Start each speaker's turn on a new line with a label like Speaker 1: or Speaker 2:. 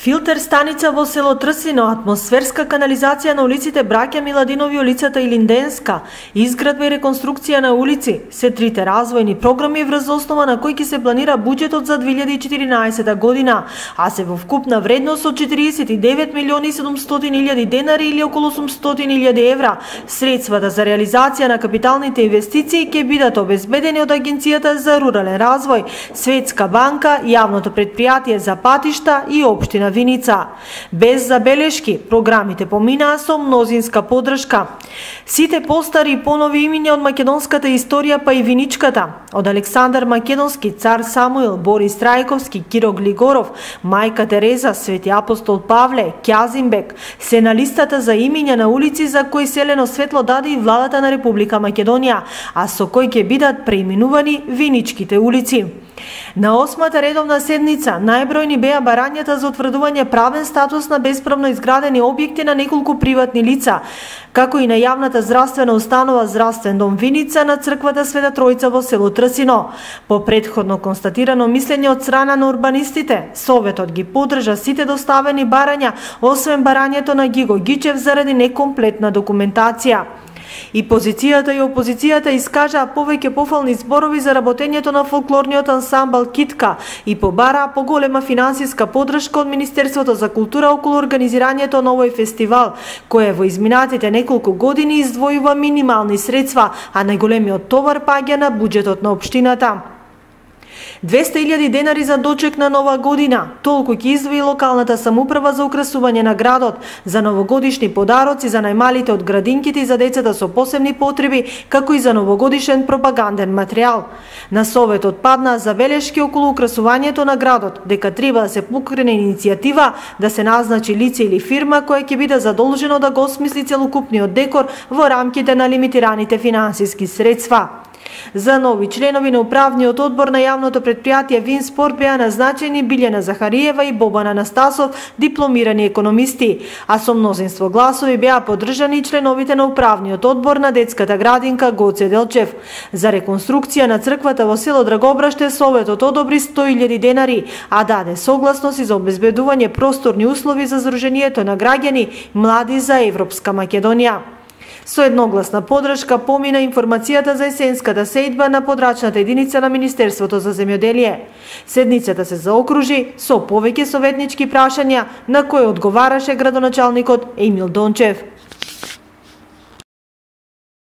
Speaker 1: Филтер станица во село Трсино, атмосферска канализација на улиците Браќа Миладинови, улицата Илинденска, изградба и реконструкција на улици се трите развојни програми врз основа на кои ќе се планира буџетот за 2014 година, а се во вкупна вредност од 49.700.000 денари или околу 800.000 евра. Средствата за реализација на капиталните инвестиции ќе бидат обезбедени од Агенцијата за рурален развој, Светска банка, Јавното претпријатие за патишта и општина Виница. Без забелешки, програмите поминаа со мнозинска поддршка. Сите постари и понови имиња од македонската историја, па и виничката, од Александар Македонски, Цар Самуил, Борис Трајковски, Киро Глигоров, Мајка Тереза, Свети апостол Павле, Ќазимбек, се на листата за имиња на улици за кои селено светло даде и владата на Република Македонија, а со кои ќе бидат преименувани виничките улици. На 8-та редовна седница најбројни беа барањата за утврдување правен статус на бесправно изградени објекти на неколку приватни лица, како и на јавната здравствена установа Здравствен дом Виница на црквата Света Тројца во село Трсино. По претходно констатирано мислење од страна на урбанистите, Советот ги поддржа сите доставени барања, освен барањето на Гиго Гичев заради некомплетна документација. И позицијата и опозицијата искажаа повеќе пофални зборови за работењето на фолклорниот ансамбл Китка и побараа поголема финансиска поддршка од Министерството за култура околу организирањето на овој фестивал, кој во изминатите неколку години издвојува минимални средства, а најголемиот товар паѓа на буџетот на општината. 200.000 денари за дочек на нова година. Толку ќе издвои локалната самоуправа за украсување на градот, за новогодишни подароци за најмалите од градинките и за децата со посебни потреби, како и за новогодишен пропаганден материјал. На Советот паднаа забелешки околу украсувањето на градот, дека треба да се покрене иницијатива да се назначи лице или фирма која ќе биде задолжено да го осмисли целокупниот декор во рамките на лимитираните финансиски средства. За нови членови на управниот одбор на јавното претпријатие Винспорт беа назначени Билјана Захариева и Бобан Анастасов, дипломирани економисти, а со мнозинство гласови беа поддржани и членовите на управниот одбор на детската градинка Гоце Делчев. За реконструкција на црквата во село Драгобраште Советот одобри 100.000 денари, а даде согласност и за обезбедување просторни услови за здруженијето на граѓани Млади за Европска Македонија. Со едногласна поддршка помина информацијата за есенската сејдба на подрачната единица на Министерството за земјоделие. Седницата се заокружи со повеќе советнички прашања на кои одговараше градоначалникот Емил Дончев.